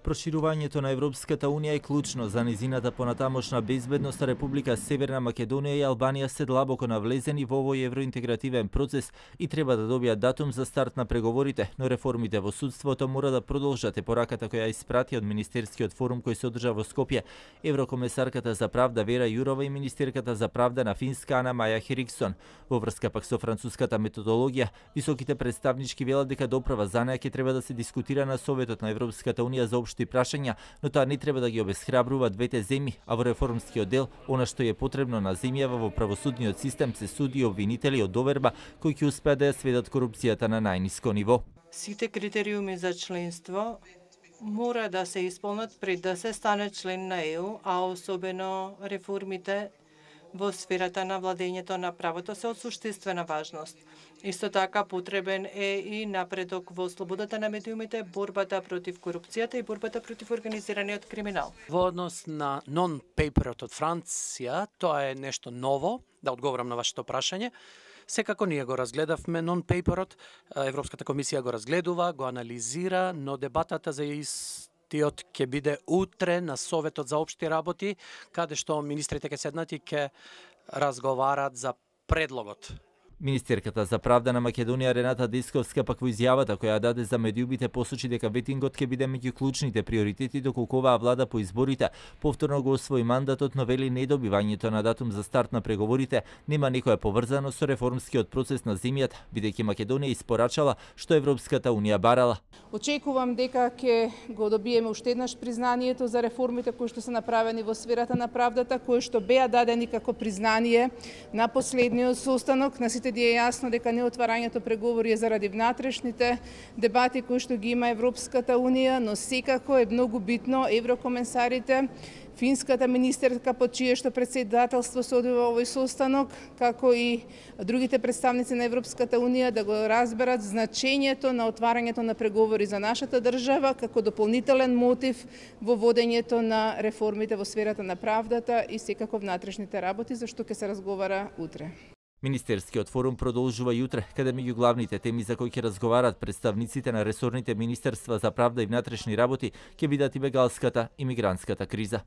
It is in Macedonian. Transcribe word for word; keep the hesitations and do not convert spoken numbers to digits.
Проширувањето на Европската Унија е клучно за низината понатамошна безбедност. Република Северна Македонија и Албанија се длабоко навлезени во овој евроинтегративен процес и треба да добијат датум за старт на преговорите, но реформите во судството мора да продолжат, е пораката која испрати од Министерскиот форум кој се одржа во Скопје еврокомесарката за правда Вера Јурова и министерката за правда на Финска Ана Маја Хериксон. Во врска пак со француската методологија, високите представнички велат дека доправа за неа ќе треба да се дискутира на Советот на Европската Унија за општи прашања, но тоа не треба да ги обесхрабрува двете земји, а во реформскиот дел, она што е потребно на земјава во правосудниот систем се суди и обвинители од доверба кои ќе успеат да ја сведат корупцијата на најниско ниво. Сите критериуми за членство мора да се исполнат пред да се стане член на Е У, а особено реформите во сферата на владењето на правото се од суштинствена важност. Исто така потребен е и напредок во слободата на медиумите, борбата против корупцијата и борбата против организираниот криминал. Во однос на нон-пейперот од Франција, тоа е нешто ново, да одговорам на вашето прашање. Секако ние го разгледавме нон-пейперот, Европската комисија го разгледува, го анализира, но дебатата за истиот ќе биде утре на Советот за општи работи, каде што министрите ќе седнат и ќе разговарат за предлогот. Министерката за правда на Македонија Рената Десковска пак во изјавата која даде за медиумите посочи дека ветингот ќе биде меѓу клучните приоритети доколку оваа влада по изборите повторно го освои мандатот, но вели недобивањето на датум за старт на преговорите нема никоја поврзано со реформскиот процес на земјата, бидејќи Македонија испорачала што Европската Унија барала. Очекувам дека ќе го добиеме уште еднаш признанието за реформите кои што се направени во сферата на правдата, кои што беа дадени како признание на последниот состанок. На сите е јасно дека неотварањето преговори е заради внатрешните дебати кои што ги има Европската Унија, но секако е многу битно еврокомесарите, финската министерка под чие што председателство се одвива овој состанок, како и другите представници на Европската Унија да го разберат значењето на отварањето на преговори за нашата држава како дополнителен мотив во водењето на реформите во сферата на правдата и секако внатрешните работи, за што ќе се разговара утре. Министерскиот форум продолжува и утре, каде меѓу главните теми за кои ќе разговарат представниците на ресорните министерства за правда и внатрешни работи ќе бидат и бегалската и мигрантската криза.